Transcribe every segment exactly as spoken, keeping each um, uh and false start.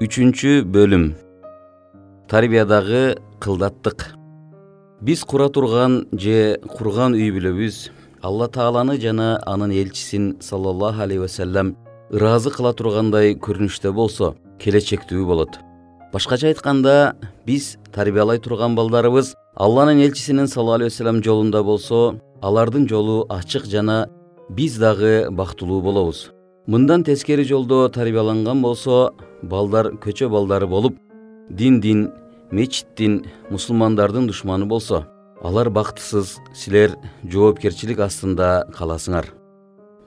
Үчүнчү бөлүм. Тарбиядагы кылдаттык. Биз кура турган же курган үй бүлөбүз Алла Тааланы жана анын элчисин саллаллаху алейхи вассалам ыраазы кыла тургандай көрүнүштө болсо, келечектүү болот. Башкача айтканда, биз тарбиялай турган балдарыбыз Алланын элчисинин саллаллаху алейхи вассалам жолунда болсо, алардын жолу ачык жана биз дагы бактылуу болобуз. Мындан тескери жолдо тарбияланган болсо, балдар көчө балдары болуп, диндин, мечиттин, мусулмандардын душманы болсо, алар бактысыз, силер жоопкерчилик астында каласыңар.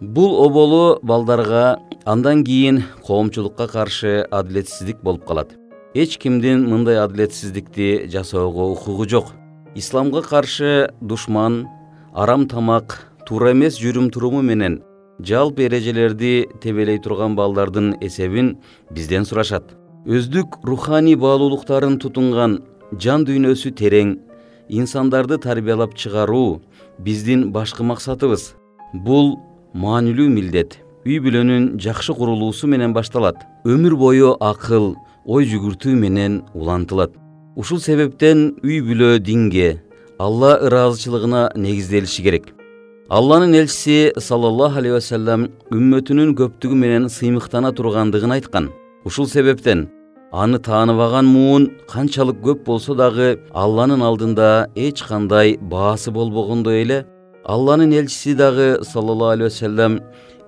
Бул оболу балдарга андан кийин коомчулукка каршы адилетсиздик болуп калат. Эч кимдин мындай адилетсиздикти жасоого укугу жок. Исламга каршы душман, арам тамак, туура эмес жүрүм-туруму менен жалпы эрежелерди тебелей турган балдардын эсебин бизден сурашат. Өздүк руханий баалуулуктарын тутунган, жан дүйнөсү терең, инсандарды тарбиялап чыгаруу биздин башкы максатыбыз. Бул маанилүү милдет үй бүлөнүн жакшы курулуусу менен башталат. Өмүр бою акыл, ой жүгүртүү менен улантылат. Ушул себептен үй бүлө динге, Алла ыраазычылыгына негизделиши керек. Алланын элчиси саллаллаху алейхи вассалам үммөтүнүн көптүгү менен сыймыктана тургандыгын айткан. Ушул себептен аны тааныбаган муун канчалык көп болсо дагы Алланын алдында эч кандай баасы болбогондой эле, Алланын элчиси дагы саллаллаху алейхи вассалам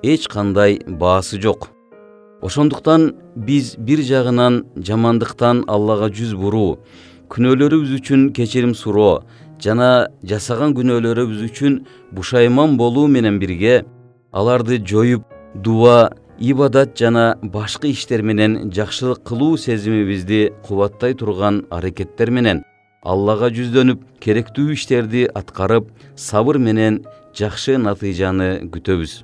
эч кандай баасы жок. Ошондуктан биз бир жагынан жамандыктан Аллага жүз буруу, күнөөлөрүбүз үчүн кечирим суроо жана жасаган күнөөлөрүбүз үчүн бушайман болуу менен бирге, аларды жоюп, дуа, ибадат жана башкы иштер менен жакшылык кылуу сезимибизди кубаттай турган аракеттер менен Аллага жүздөнүп, керектүү иштерди аткарып, сабыр менен жакшы натыйжаны күтөбүз.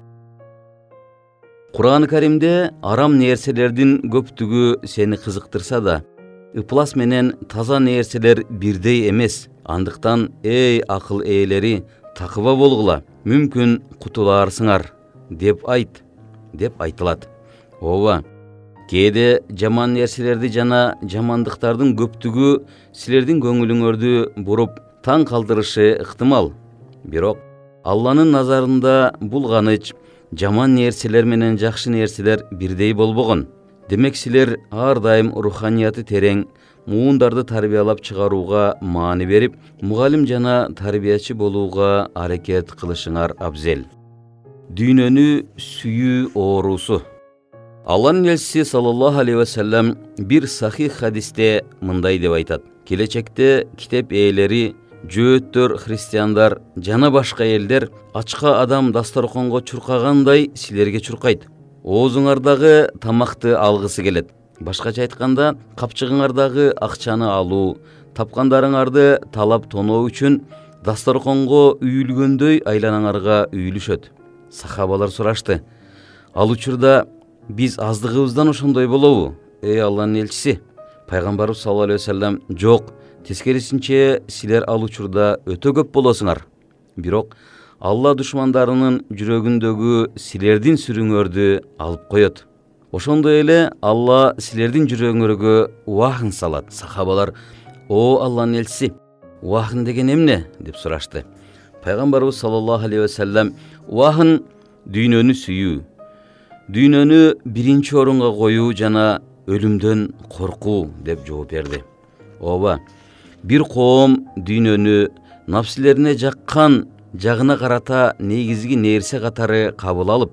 Кур'ан Каримде арам нерселердин көптүгү сени кызыктырса да, ыплас менен таза нерселер бирдей эмес. Андыктан, эй акыл ээлери, такыба болгула, мүмкүн кутулаарсыңар, деп айт, деп айтылат. Ооба, кээде жаман нерселерди жана жамандыктардын көптүгү силердин көңүлүңөрдү буруп, таң калтырышы ыктымал. Бирок Алланын назарында булганыч, жаман нерселер менен жакшы нерселер бирдей болбогон. Демек силер ар дайым руханияты терең, муундарды тарбиялап чыгарууга маани берип, мугалим жана тарбиячы болууга аракет кылышыңар абзел. Дүйнөнү сүйүү оорусу. Алланын элчиси саллаллаху алейхи вассалам бир сахих хадисте мындай деп айтат: келечекте китеп ээлери, жөөттөр, христиандар жана башка элдер ачка адам дасторконго чуркагандай силерге чуркайт. Оозуңардагы тамакты алгысы келет. Башкача айтканда, капчыгыңардагы акчаны алуу, тапкандарыңарды талап тоноо үчүн дасторконго үйүлгөндөй айланаңарга үйүлүшөт. Сахабалар сурашты: ал учурда биз аздыгыбыздан ошондой болобу? Эй Алланын элчиси, пайгамбарыбыз саллаллаху алейхи вассалам: жок, тескерисинче силер ал учурда өтө көп болосуңар. Бирок Алла душмандарынын жүрөгүндөгү силердин сүрүңөрдү алып коет. Ошондой эле Алла силердин жүрөгүңөргө уахын салат. Сахабалар: о Алланын элчиси, уахын деген эмне? Деп сурашты. Пайгамбарыбыз саллаллаху алейхи вассалам: уахын дүйнөнү сүйүү, дүйнөнү биринчи орунга коюу жана өлүмдөн коркуу, деп жооп берди. Ооба, бир коом дүйнөнү напсилерине жаккан жагына карата негизги нерсе катары кабыл алып,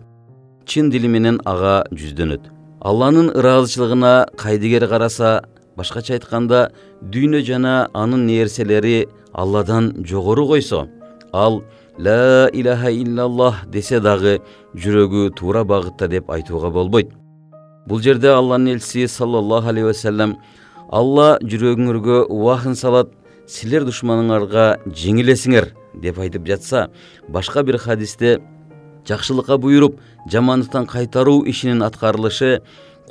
чын дили менен ага жүздөнөт. Алланын ыраазычылыгына кайдыгер караса, башкача айтканда, дүйнө жана анын нерселери Алладан жогору койсо, ал ла илаха иллаллах десе дагы жүрөгү туура багытта деп айтууга болбойт. Бул жерде Алланын элчиси саллаллаху алейхи вассалам: Алла жүрөгүңөргө уахын салат, силер душманыңарга жеңилесиңер, деп айтып жатса, башка бир хадисте жакшылыкка буйруп, жамандыктан кайтаруу ишинин аткарылышы,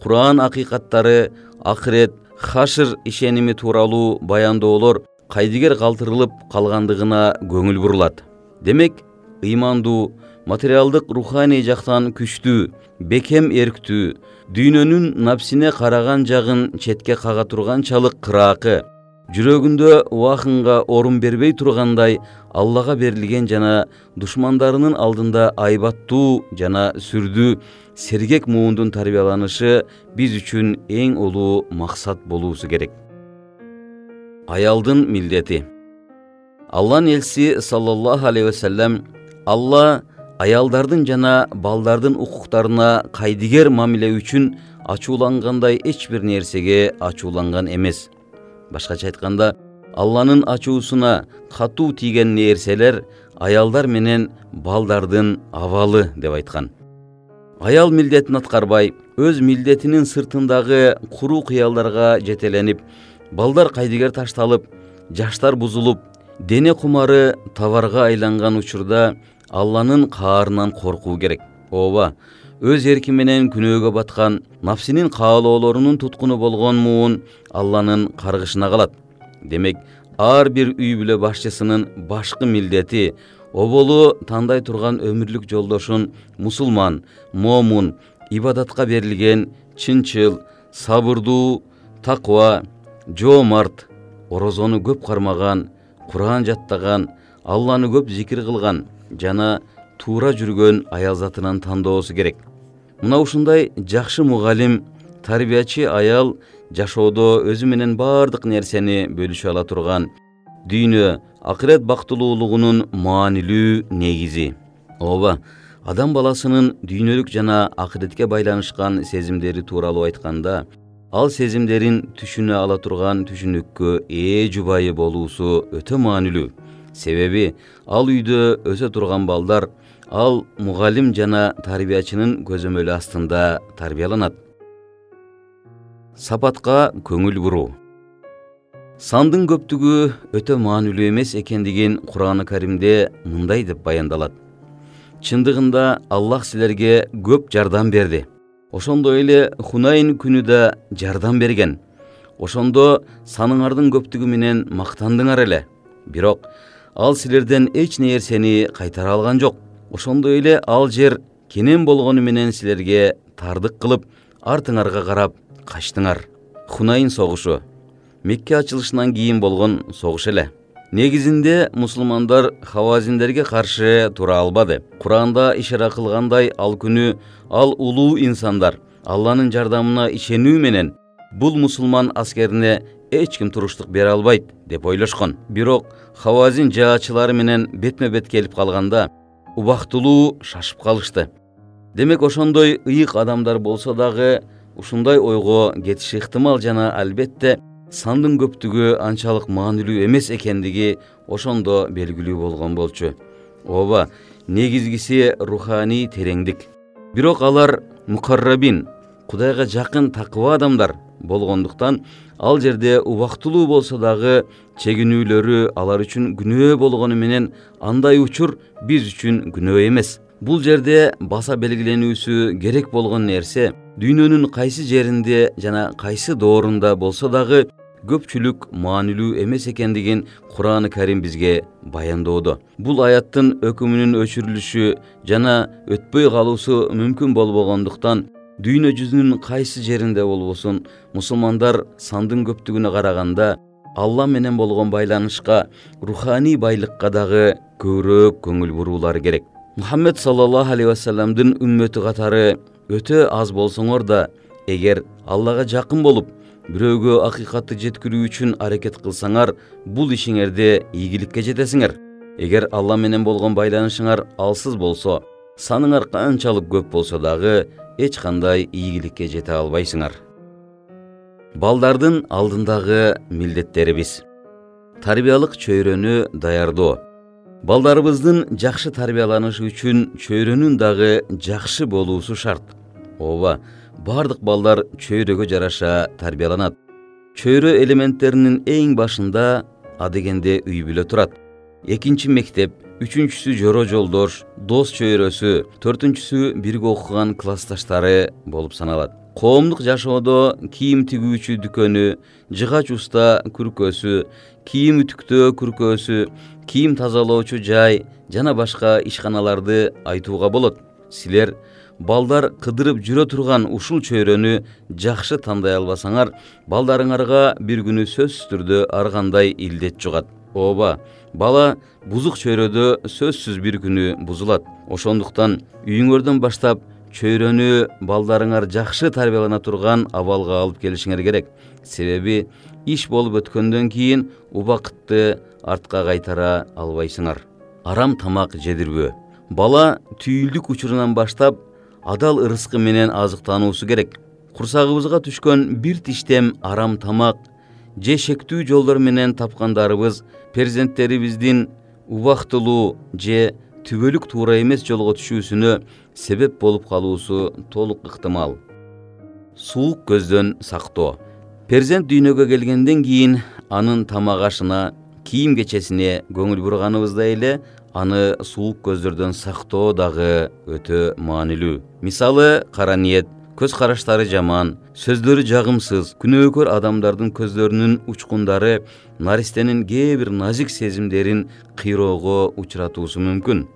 Кур'ан акыйкаттары, акырет, хашыр ишеними тууралуу баяндоолор кайдыгер калтырылып калгандыгына көңүл бурулат. Демек, ыймандуу, материалдык руханий жактан күчтүү, бекем эрктүү, дүйнөнүн напсине караган жагын четке кага турганчалык кыраакы, жүрөгүндө убакынга орун бербей тургандай Аллага берилген жана душмандарынын алдында айбаттуу жана сүрдүү, сергек муундун тарбияланышы биз үчүн эң улуу максат болуусу керек. Аялдын милдети. Алланын элчиси саллаллаху алейхи вассалам Алла аялдардын жана балдардын укуктарына кайдыгер мамиле үчүн ачуулангандай эч бир нерсеге ачууланган эмес. Башкача айтканда, Алланын ачуусуна катуу тийген нерселер аялдар менен балдардын абалы деп айткан. Аял милдетин аткарбай, өз милдетинин сыртындагы куру кыялдарга жетеленип, балдар кайдыгер ташталып, жаштар бузулуп, дене кумары товарга айланган учурда Алланын каарынан коркуу керек. Ооба, өз эрки менен күнөөгө баткан, нафсинин каалоолорунун туткуну болгон муун Алланын каргышына калат. Демек, ар бир үй бүлө башчысынын башкы милдети оболу тандай турган өмүрлүк жолдошун мусулман, момун, ибадатка берилген, чынчыл, сабырдуу, таква, жоомарт, орозону көп кармаган, Куран жаттаган, Алланы көп зикир кылган жана туура жүргөн аял затынан тандоосу керек. Мына ушундай жакшы мугалим, тарбиячы аял жашоодо өзү менен бардык нерсени бөлүшө ала турган, дүйнө, акырет бактылуулугунун маанилүү негизи. Ооба, адам баласынын дүйнөлүк жана акыретке байланышкан сезимдери тууралуу айтканда, ал сезимдерин түшүнө ала турган түшүнүккө ээ жубайы болуусу өтө маанилүү. Себеби ал үйдө өсө турган балдар ал мугалим жана тарбиячынын көзөмөлү астында тарбияланат. Сапатка көңүл буруу. Сандын көптүгү өтө маанилүү эмес экендигин Куран-ы Каримде мындай деп баяндалат. Чындыгында Аллах силерге көп жардам берди. Ошондой эле Хунайн күнү да жардам берген. Ошондо саныңардын көптүгү менен мактандыңар эле. Бирок ал силерден эч нерсени кайтара алган жок. Ошондой эле ал жер кенен болгону менен силерге тардык кылып, артыңарга карап качтыңар. Хунайн согушу Мекке ачылышынан кийин болгон согуш эле. Негизинде мусулмандар хавазиндерге каршы тура албады. Куранда ишара кылгандай, ал күнү ал улуу инсандар Алланын жардамына ишенүү менен бул мусулман аскерине эч ким туруштук бере албайт деп ойлошкон. Бирок хавазин жаачылары менен бетме-бет келип калганда убактылуу шашып калышты. Демек ошондой ыйык адамдар болсо дагы ушундай ойго кетиши ыктымал жана албетте сандын көптүгү анчалык маанилүү эмес экендиги ошондо белгилүү болгон болчу. Ооба, негизгиси руханий тереңдик. Бирок алар мукаррабин, Кудайга жакын такыба адамдар болгондуктан ал жерде убактылуу болсо дагы чегинүүлөрү алар үчүн күнөө болгону менен андай учур биз үчүн күнөө эмес. Бул жерде баса белгиленүүсү керек болгон нерсе дүйнөнүн кайсы жеринде жана кайсы доорунда болсо дагы көпчүлүк маанилүү эмес экендигин Куран-ы Карим бизге баяндоодо. Бул аяттын өкүмүнүн өчүрүлүшү жана өтпөй калуусу мүмкүн болбогондуктан дүйнө жүзүнүн кайсы жеринде болбосун мусулмандар сандын көптүгүнө караганда Алла менен болгон байланышка, руханий байлыкка дагы көбүрөөк көңүл буруулары керек. Мухаммед саллаллаху алейхи вассаламдын үммөтү катары өтө аз болсоңор да, эгер Аллага жакын болуп, бирөөгө акыйкатты жеткирүү үчүн аракет кылсаңар, бул ишиңерде ийгиликке жетесиңер. Эгер Алла менен болгон байланышыңар алсыз болсо, саныңар канчалык көп болсо дагы эч кандай ийгиликке жете албайсыңар. Балдардын алдындагы милдеттерибиз. Тарбиялык чөйрөнү даярдоо. Балдарыбыздын жакшы тарбияланышы үчүн чөйрөнүн дагы жакшы болуусу шарт. Ооба, бардык балдар чөйрөгө жараша тарбияланат. Чөйрө элементтеринин эң башында адегенде үй бүлө турат. Экинчи мектеп, үчүнчүсү жоро жолдош, дос чөйрөсү, төртүнчүсү бирге окуган классташтары болуп саналат. Коомдук жашоодо кийим тигүүчү дүкөнү, жыгач уста күркөсү, кийим үтүктөө күркөсү, кийим тазалоочу жай жана башка ишканаларды айтууга болот. Силер балдар кыдырып жүрө турган ушул чөйрөнү жакшы тандай албасаңар, балдарыңарга бир күнү сөзсүз түрдө ар кандай илдет жугат. Ооба, бала бузук чөйрөдө сөзсүз бир күнү бузулат. Ошондуктан үйүңөрдөн баштап чөйрөнү балдарыңар жакшы тарбиялана турган абалга алып келишиңер керек. Себеби иш болуп өткөндөн кийин убакытты артка кайтара албайсыңар. Арам тамак жедирбөө. Бала түйүлдүк учурунан баштап адал ырыскы менен азыктануусу керек. Курсагыбызга түшкөн бир тиштем арам тамак же шектүү жолдор менен тапкандарыбыз перзенттерибиздин убактылуу же түбөлүк туура эмес жолго түшүүсүнө себеп болуп калуусу толук ыктымал. Суук көздөн сактоо. Перзент дүйнөгө келгенден кийин анын тамак ашына, кийим кечесине көңүл бурганыбыздай эле аны суук көздөрдөн сактоо дагы өтө маанилүү. Мисалы, кара ниет, көз караштары жаман, сөздөрү жагымсыз, күнөөкөр адамдардын көздөрүнүн учкундары наристенин кээ бир назик сезимдерин кыйроого учуратуусу мүмкүн.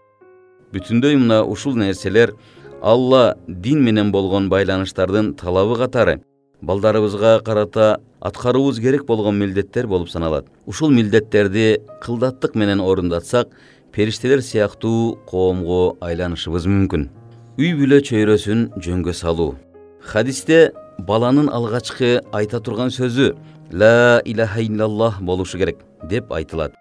Бүтүндөй мына ушул нерселер Алла дин менен болгон байланыштардын талабы катары балдарыбызга карата аткарууубуз керек болгон милдеттер болуп саналат. Ушул милдеттерди кылдаттык менен орундатсак, периштелер сыяктуу коомго айланышыбыз мүмкүн. Үй бүлө чөйрөсүн жөнгө салуу. Хадисте баланын алгачкы айта турган сөзү «Ла илаха иллаллах» болушу керек деп айтылат.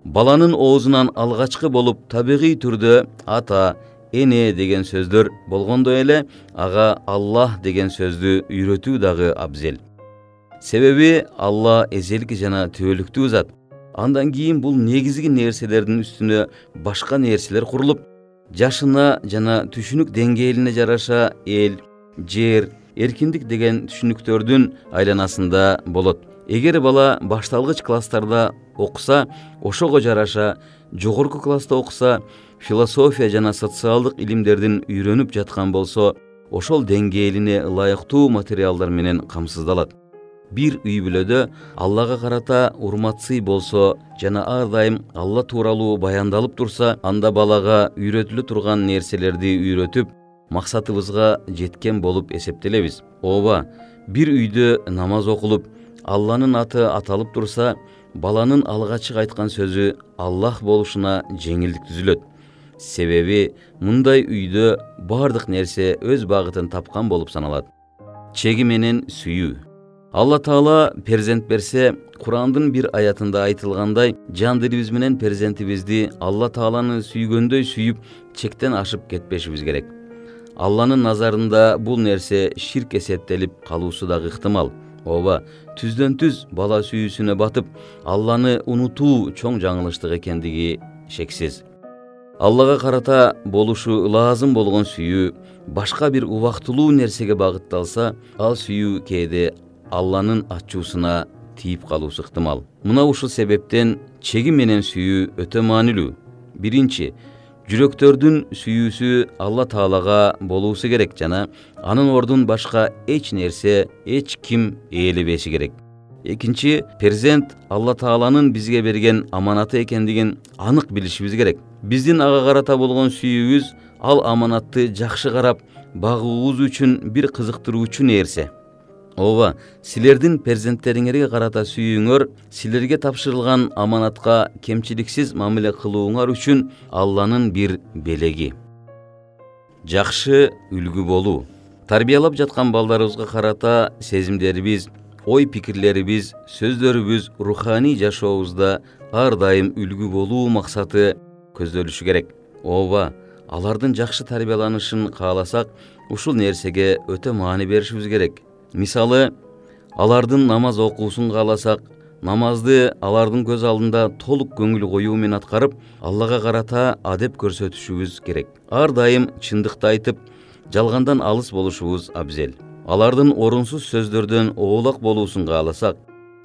Баланын оозунан алгачкы болуп табигый түрдө ата, эне деген сөздөр болгондой эле ага Аллах деген сөздү үйрөтүү дагы абзел. Себеби Алла эзелки жана түбөлүктүү зат. Андан кийин бул негизги нерселердин үстүнө башка нерселер курулуп, жашына жана түшүнүк деңгээлине жараша эл, жер, эркиндик деген түшүнүктөрдүн айланасында болот. Эгер бала башталгыч класстарда окуса, ошого жараша жогорку класста окуса, философия жана социалдык илимдердин үйрөнүп жаткан болсо, ошол деңгээлине ылайыктуу материалдар менен камсыздалат. Бир үй бүлөдө Аллага карата урматсый болсо жана ар дайым Алла тууралуу баяндалып турса, анда балага үйрөтүлө турган нерселерди үйрөтүп, максатыбызга жеткен болуп эсептелебиз. Ооба, бир үйдө намаз окулуп, Алланын аты аталып турса, баланын алгачкы айткан сөзү Аллах болушуна жеңилдик түзүлөт. Себеби мындай үйдө бардык нерсе өз багытын тапкан болуп саналат. Чеги менен сүйүү. Алла Таала перзент берсе, Курандын бир аятында айтылгандай, жан дилибиз менен перзентибизди Алла Тааланы сүйгөндөй сүйүп, чектен ашып кетпешибиз керек. Алланын назарында бул нерсе ширк эсептелип калуусу дагы ыктымал. Ооба, түздөн түз бала сүйүүсүнө батып, Алланы унутуу чоң жаңылыштык экендиги шексиз. Аллага карата болушу лазым болгон сүйүү башка бир убактылуу нерсеге багытталса, ал сүйүү кээде Алланын ачуусуна тийип калуусу ыктымал. Мына ушул себептен чеги менен сүйүү өтө маанилүү. Биринчи, жүрөктөрдүн сүйүүсү Алла Таалага болуусу керек жана анын ордун башка эч нерсе, эч ким ээлебеши керек. Экинчи, перзент Алла Тааланын бизге берген аманаты экендигин анык билишибиз керек. Биздин ага карата болгон сүйүүбүз ал аманатты жакшы карап, багуубуз үчүн бир кызыктыруучу нерсе. Ооба, силердин перзенттериңерге карата сүйүүңөр силерге тапшырылган аманатка кемчиликсиз мамиле кылууңар үчүн Алланын бир белеги. Жакшы үлгү болуу. Тарбиялап жаткан балдарыбызга карата сезимдерибиз, ой пикирлерибиз, сөздөрүбүз руханий жашообузда ар дайым үлгү болуу максаты көздөлүшү керек. Ооба, алардын жакшы тарбияланышын кааласак, ушул нерсеге өтө маани беришибиз керек. Мисалы, алардын намаз окуусун кааласак, намазды алардын көз алдында толук көңүл коюу менен аткарып, Аллага карата адеп көрсөтүшүбүз керек. Ар дайым чындыкты айтып, жалгандан алыс болушубуз абзел. Алардын орунсуз сөздөрдөн оолак болуусун кааласак,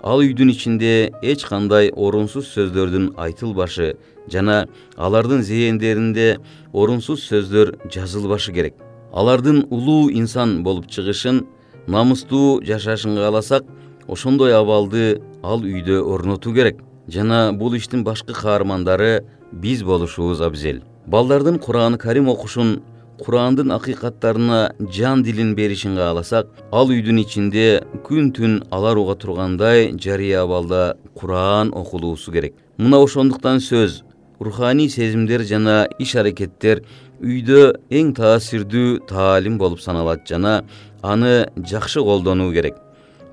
ал үйдүн ичинде эч кандай орунсуз сөздөрдүн айтылбашы жана алардын зээндеринде орунсуз сөздөр жазылбашы керек. Алардын улуу инсан болуп чыгышын, намыстуу жашашын кааласак, ошондой абалды ал үйдө орнотуу керек. жана бул иштин башкы каармандары биз болушубуз абзел. Балдардын Кур'ан Карим окушун, Кур'андын акыйкаттарына жан дилин беришин кааласак, ал үйдүн ичинде күн түн алар уга тургандай жарыя абалда Кур'ан окулуусу керек. Мына ошондуктан сөз, руханий сезимдер жана иш-аракеттер үйдө эң таасирдүү таалим болуп саналат жана аны жакшы колдонуу керек.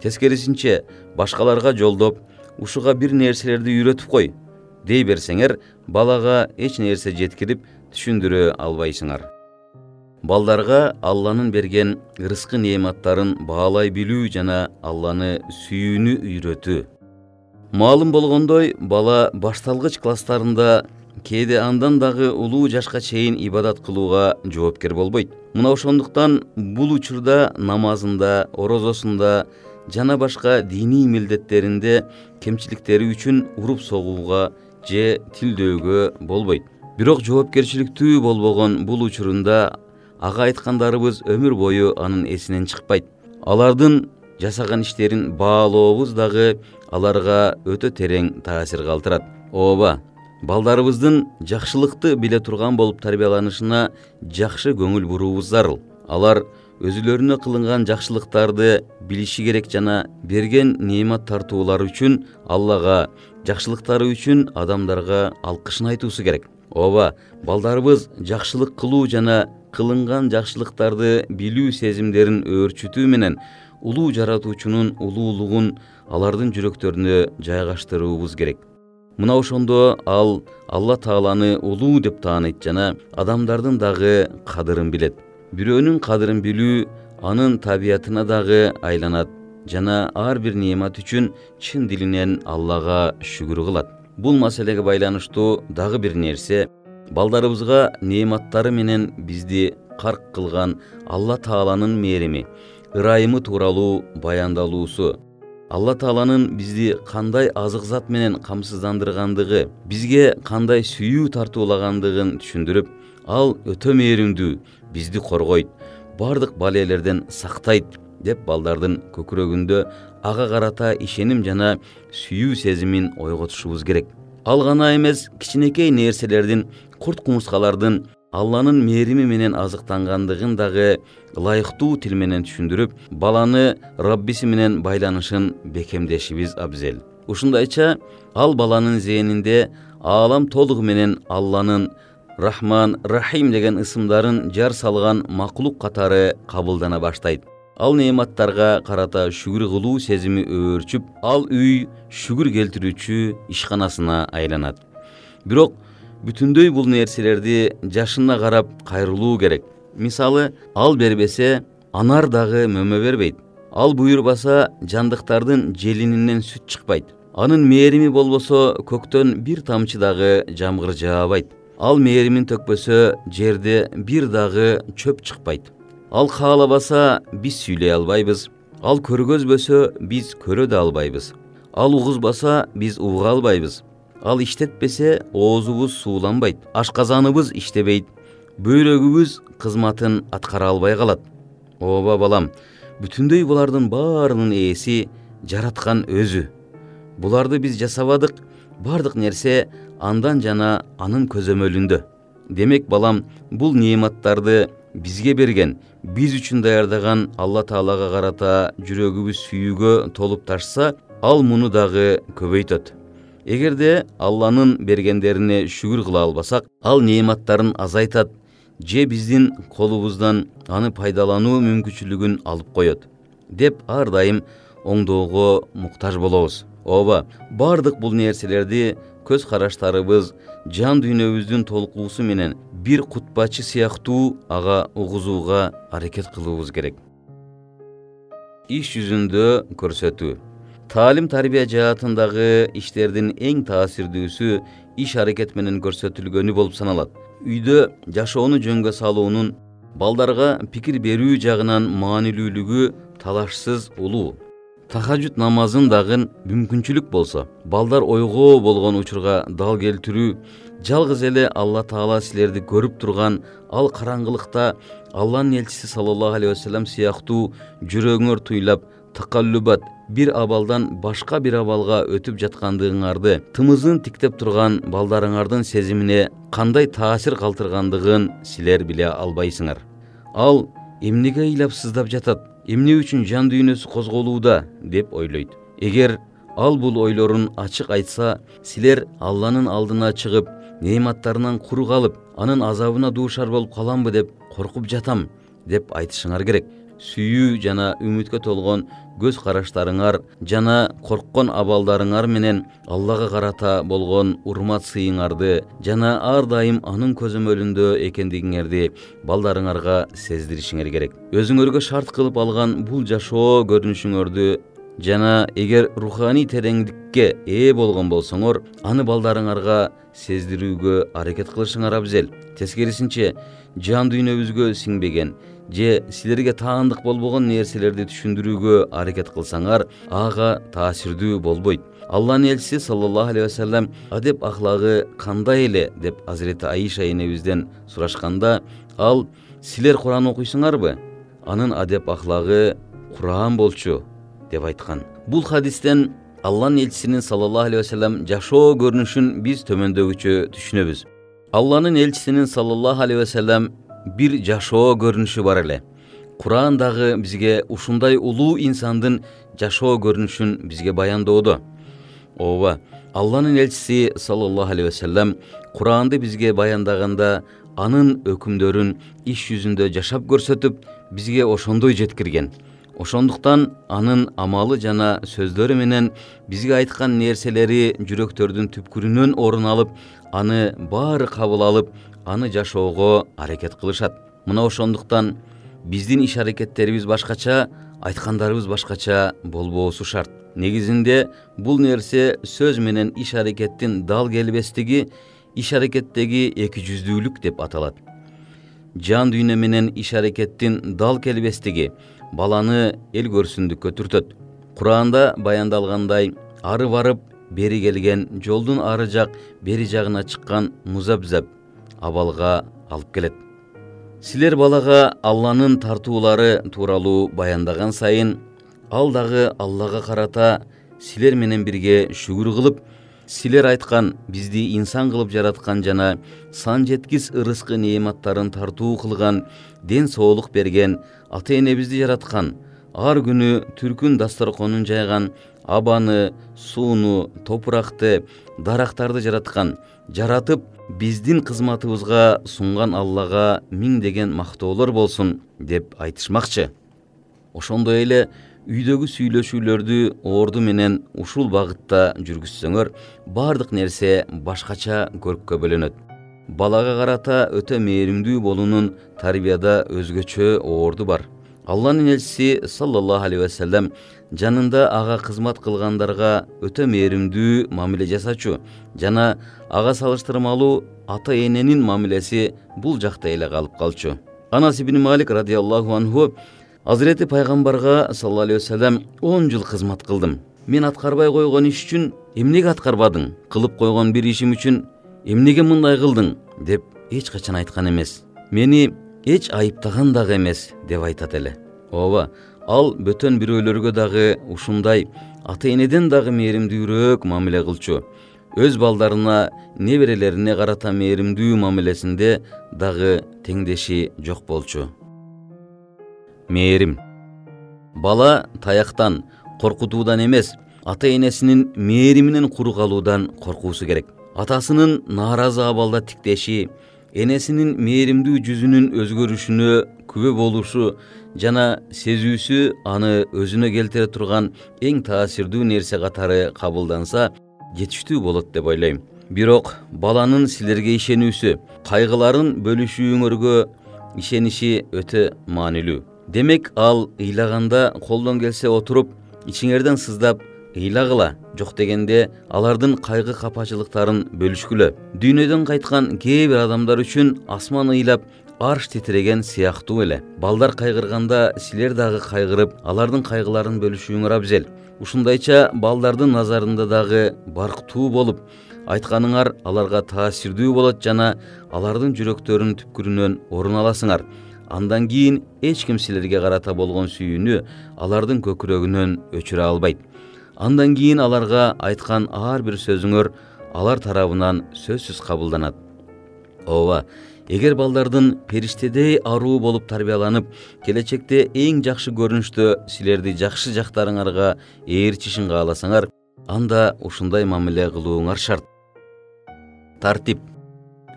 Тескерисинче, башкаларга жолдоп, ушуга бир нерселерди үйрөтүп кой дей берсеңер, балага эч нерсе жеткирип түшүндүрө албайсыңар. Балдарга Алланын берген рызкы неаматтарын баалай билүү жана Алланы сүйүүнү үйрөтүү. Маалым болгондой, бала башталгыч класстарында кээде андан дагы улуу жашка чейин ибадат кылууга жоопкер болбойт. Мына ошондуктан бул учурда намазында, орозосунда жана башка диний милдеттеринде кемчиликтери үчүн уруп согууга же тилдөөгө болбойт. Бирок жоопкерчиликтүү болбогон бул учурунда ага айткандарыбыз өмүр бою анын эсинен чыкпайт. Алардын жасаган иштерин баалообуз дагы аларга өтө терең таасир калтырат. Ооба, балдарыбыздын жакшылыкты биле турган болуп тарбияланышына жакшы көңүл буруубуз зарыл. Алар өзүлөрүнө кылынган жакшылыктарды билиши керек жана берген неамат тартуулары үчүн Аллага, жакшылыктары үчүн адамдарга алкышын айтуусу керек. Ооба, балдарыбыз жакшылык кылуу жана кылынган жакшылыктарды билүү сезимдерин өөрчүтүү менен улуу жаратуучунун улуулугун алардын жүрөктөрүнө жайгаштыруубуз керек. Мына ошондо ал Алла Тааланы улуу деп тааныйт жана адамдардын дагы кадырын билет. Бирөөнүн кадырын билүү анын табиятына дагы айланат жана ар бир неамат үчүн чын дилинен Аллага шүгүр кылат. Бул маселеге байланыштуу дагы бир нерсе, балдарыбызга неаматтары менен бизди карк кылган Алла Тааланын мээрими, ырайымы тууралуу баяндалуусу. Алла Тааланын бизди кандай азык зат менен камсыздандыргандыгы, бизге кандай сүйүү тартуулагандыгын түшүндүрүп, ал өтө мээримдүү, бизди коргойт, бардык балелерден сактайт деп балдардын көкүрөгүндө ага карата ишеним жана сүйүү сезимин ойготушубуз керек. Ал гана эмес, кичинекей нерселердин, курт-кумурскалардын Алланын мээрими менен азыктангандыгын дагы ылайыктуу тил менен түшүндүрүп, баланы Раббиси менен байланышын бекемдешибиз абзел. Ушундайча, ал баланын зээнинде аалам толугу менен Алланын Рахман, Рахим деген ысымдарын жар салган макулук катары кабылдана баштайт. Ал неаматтарга карата шүгүр кылуу сезими өөрчүп, ал үй шүгүр келтирүүчү ишканасына айланат. Бирок бүтүндөй бул нерселерди жашына карап кайрылуу керек. Мисалы, ал бербесе, анар дагы мөмө бербейт. Ал буйрбаса, жандыктардын желининен сүт чыкпайт. Анын мээрими болбосо, көктөн бир тамчы дагы жамгыр жаабайт. Ал мээримин төкпөсө, жерде бир дагы чөп чыкпайт. Ал каалабаса, биз сүйлөй албайбыз. Ал көргөзбөсө, биз көрө да албайбыз. Ал угузбаса, биз уга албайбыз. Ал иштетпесе, оозубуз сууланбайт. Ашказаныбыз иштебейт. Бөйрөгүбүз кызматын аткара албай калат. Ооба балам, бүтүндөй булардын баарынын ээси жараткан өзү. Буларды биз жасабадык, бардык нерсе андан жана анын көзөмөлүндө. Демек балам, бул неаматтарды бизге берген, биз үчүн даярдаган Алла Таалага карата жүрөгүбүз сүйүүгө толуп ташса, ал муну дагы көбөйтөт. Эгерде Алланын бергендерине шүгүр кыла албасак, ал неаматтарын азайтат же биздин колубуздан аны пайдалануу мүмкүнчүлүгүн алып коет деп ар дайым оңдоого муктаж болобуз. Ооба, бардык бул нерселерди көз караштарыбыз, жан дүйнөбүздүн толкуусу менен бир кутбачы сыяктуу ага угузууга аракет кылуубуз керек. Иш жүзүндө көрсөтүү. Таалим тарбия жаатындагы иштердин эң таасирдүүсү иш аракет менен көрсөтүлгөнү болуп саналат. Үйдө жашоону жөнгө салуунун балдарга пикир берүү жагынан маанилүүлүгү талашсыз улуу. Тахажжуд намазын дагы мүмкүнчүлүк болсо, балдар ойгоо болгон учурга дал келтирүү, жалгыз эле Алла Таала силерди көрүп турган ал караңгылыкта Алланын элчиси саллаллаху алейхи вассалам сыяктуу жүрөгүңөр туйлап такаллубат, бир абалдан башка бир абалга өтүп жаткандыгыңарды, тымызын тиктеп турган балдарыңардын сезимине кандай таасир калтыргандыгын силер биле албайсыңар. Ал эмнеге ыйлап сыздап жатат, эмне үчүн жан дүйнөсү козголууда деп ойлойт. Эгер ал бул ойлорун ачык айтса, силер Алланын алдына чыгып, неаматтарынан кур калып, анын азабына дуушар болуп каламбы деп коркуп жатам деп айтышыңар керек. Сүйүү жана үмүткө толгон көз караштарыңар жана корккон абалдарыңар менен Аллага карата болгон урмат сыйыңарды жана ар дайым анын көзөмөлүндө экендигиңерди балдарыңарга сездиришиңер керек. Өзүңөргө шарт кылып алган бул жашоо көрүнүшүңөрдү жана эгер руханий тереңдикке ээ болгон болсоңор, аны балдарыңарга сездирүүгө аракет кылышыңар абзел. Тескерисинче, жан дүйнөбүзгө сиңбеген же силерге таандык болбогон нерселерди түшүндүрүүгө аракет кылсаңар, ага таасирдүү болбойт. Алланын элчиси саллаллаху алейхи вассалам адеп ахлагы кандай эле деп Азирети Аиша энебизден сурашканда, ал силер Куран окуйсуңарбы? Анын адеп ахлагы Куран болчу деп айткан. Бул хадистен Алланын элчисинин саллаллаху алейхи вассалам жашоо көрүнүшүн биз төмөндөгүчө түшүнөбүз. Алланын элчисинин саллаллаху алейхи вассалам бир жашоо көрүнүшү бар эле. Куран дагы бизге ушундай улуу инсандын жашоо көрүнүшүн бизге баяндоодо. Ооба, Алланын элчиси саллаллаху алейхи вассалам Куранды бизге баяндаганда анын өкүмдөрүн иш жүзүндө жашап көрсөтүп, бизге ошондой жеткирген. Ошондуктан анын амалы жана сөздөрү менен бизге айткан нерселери жүрөктөрдүн түпкүрүнөн орун алып, аны баары кабыл алып, аны жашоого аракет кылышат. Мына ошондуктан биздин иш аракеттерибиз башкача, айткандарыбыз башкача болбоосу шарт. Негизинде бул нерсе сөз менен иш аракеттин дал келбестиги, иш аракеттеги эки жүздүүлүк деп аталат. Жан дүйнө менен иш аракеттин дал келбестиги баланы эл көрсүндүккө түртөт. Куранда баяндалгандай, ары барып, бери келген, жолдун ары жак, бери жагына чыккан музабзаб абалга алып келет. Силер балага Алланын тартуулары тууралуу баяндаган сайын, ал дагы Аллага карата силер менен бирге шүгүр кылып, силер айткан бизди инсан кылып жараткан жана сан жеткис ырыскы неаматтарын тартуу кылган, ден соолук берген, ата-энебизди жараткан, ар күнү түркүн дасторконун жайган, абаны, сууну, топуракты, дарактарды жараткан, жаратып биздин кызматыбызга сунган Аллага миңдеген мактоолор болсун деп айтышмакчы. Ошондой эле үйдөгү сүйлөшүүлөрдү орду менен ушул багытта жүргүзсөңөр, бардык нерсе башкача көрккө бөлөнөт. Балага карата өтө мээримдүү болуунун тарбияда өзгөчө орду бар. Алланын элчиси саллаллаху алейхи вассалам жанында ага кызмат кылгандарга өтө мээримдүү мамиле жасачу жана ага салыштырмалуу ата-эненин мамилеси бул жакта эле калып калчу. Анас ибн Малик радиаллаху анху Азирети пайгамбарга саллаллаху алейхи вассалам он жыл кызмат кылдым. Мен аткарбай койгон иш үчүн эмнеге аткарбадың? Кылып койгон бир ишим үчүн эмнеге мындай кылдың? Деп эч качан айткан эмес. Мени эч айыптаган дагы эмес деп айтат эле. Ооба, ал бөтөн бирөөлөргө дагы ушундай, ата-энеден дагы мээримдүүрөөк мамиле кылчу. Өз балдарына, неберелерине карата мээримдүү мамилесинде дагы теңдеши жок болчу. Мээрим. Бала таяктан, коркутуудан эмес, ата-энесинин мээриминен куру калуудан коркуусу керек. Атасынын нааразы абалда тиктеши, энесинин мээримдүү жүзүнүн өзгөрүшүнө күбө болушу жана сезүүсү аны өзүнө келтире турган эң таасирдүү нерсе катары кабылданса, жетиштүү болот деп ойлойм. Бирок баланын силерге ишенүүсү, кайгыларын бөлүшүүңөргө ишениши өтө маанилүү. Демек, ал ыйлаганда колдон келсе отуруп, ичиңерден сыздап ыйлагыла, жок дегенде алардын кайгы капачылыктарын бөлүшкүлө. Дүйнөдөн кайткан кээ бир адамдар үчүн асман ыйлап, арш титиреген сыяктуу эле. Балдар кайгырганда силер дагы кайгырып, алардын кайгыларын бөлүшүүңөр абзел. Ушундайча балдардын назарында дагы барктуу болуп, айтканыңар аларга таасирдүү болот жана алардын жүрөктөрүнүн түпкүрүнөн орун аласыңар. андан кийин эч ким силерге карата болгон сүйүүнү алардын көкүрөгүнөн өчүрө албайт. Андан кийин аларга айткан ар бир сөзүңөр алар тарабынан сөзсүз кабылданат. Ооба, эгер балдардын периштедей аруу болуп тарбияланып, келечекте эң жакшы көрүнүштө силерди жакшы жактарыңарга ээрчишин кааласаңар, анда ушундай мамиле кылууңар шарт. Тартип.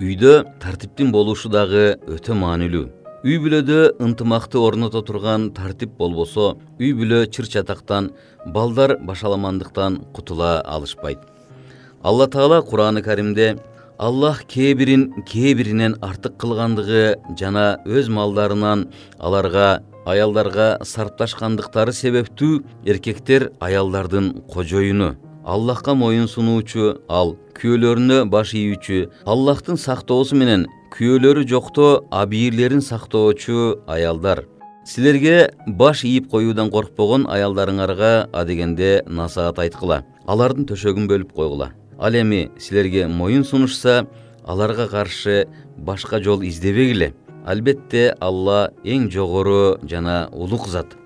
Үйдө тартиптин болушу дагы өтө маанилүү. Үй бүлөдө ынтымакты орното турган тартип болбосо, үй бүлө чыр-чатактан, балдар башаламандыктан кутула алышпайт. Алла Таала Кур'аны Каримде Аллах кээ бирин кээ биринен артык кылгандыгы жана өз малдарынан аларга, аялдарга сарпташкандыктары себептүү эркектер аялдардын кожоюну, Аллахка моюн сунуучу, ал күйөөлөрүнө баш ийүүчү, Аллахтын сактоосу менен күйөөлөрү жокто абийирлерин сактоочу аялдар. Силерге баш ийип коюудан коркпогон аялдарыңарга адегенде насаат айткыла. Алардын төшөгүн бөлүп койгула. Ал эми силерге моюн сунушса, аларга каршы башка жол издебегиле. Албетте Алла эң жогору жана улук зат.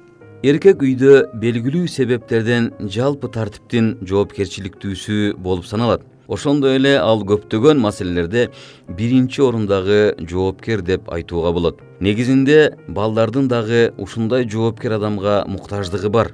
Эркек үйдө белгилүү себептерден жалпы тартиптин жоопкерчиликтүүсү болуп саналат. Ошондой эле ал көптөгөн маселелерде биринчи орундагы жоопкер деп айтууга болот. Негизинде балдардын дагы ушундай жоопкер адамга муктаждыгы бар.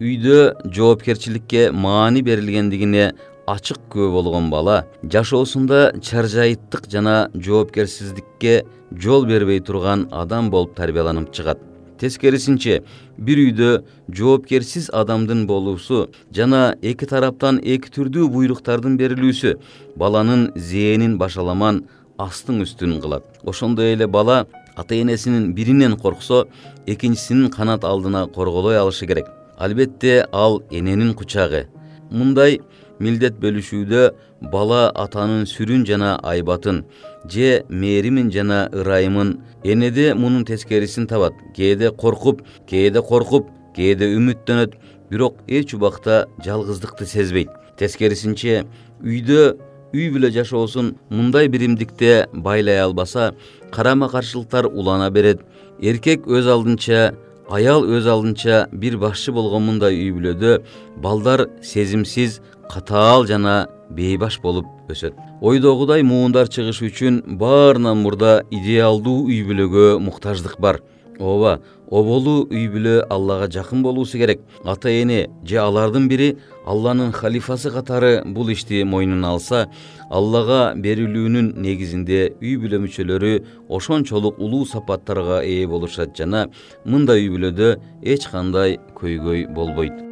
Үйдө жоопкерчиликке маани берилгендигине ачык күбө болгон бала жашоосунда чаржайыттык жана жоопкерсиздикке жол бербей турган адам болуп тарбияланып чыгат. Тескерисинче, бир үйдө жоопкерсиз адамдын болуусу жана эки тараптан эки түрдүү буйруктардын берилүүсү баланын зээнин башаламан астын үстүн кылат. Ошондой эле бала ата-энесинин биринен корксо, экинчисинин канат алдына корголой алышы керек. Албетте ал эненин кучагы. Мындай милдет бөлүшүүдө бала атанын сүрүн жана айбатын, же мээримин жана ырайымын, энеде мунун тескерисин табат. Кээде коркуп, кээде коркуп, кээде үмүттөнөт, бирок эч убакта жалгыздыкты сезбейт. Тескерисинче, үйдө үй бүлө жашоосун мындай биримдикте байлай албаса, карама-каршылыктар улана берет. Эркек өз алдынча, аял өз алдынча бир башчы болгон мындай үй бүлөдө балдар сезимсиз, катаал жана бейбаш болуп өсөт. Ойдогудай муундар чыгышы үчүн баарынан мурда идеалдуу үй бүлөгө муктаждык бар. Ооба, оболуу үй бүлө Аллага жакын болуусу керек. Ата-эне же алардын бири Алланын халифасы катары бул ишти мойнуна алса, Аллага берилүүнүн негизинде үй бүлө мүчөлөрү ошончолук улуу сапаттарга ээ болушат жана мындай үй бүлөдө эч кандай көйгөй болбойт.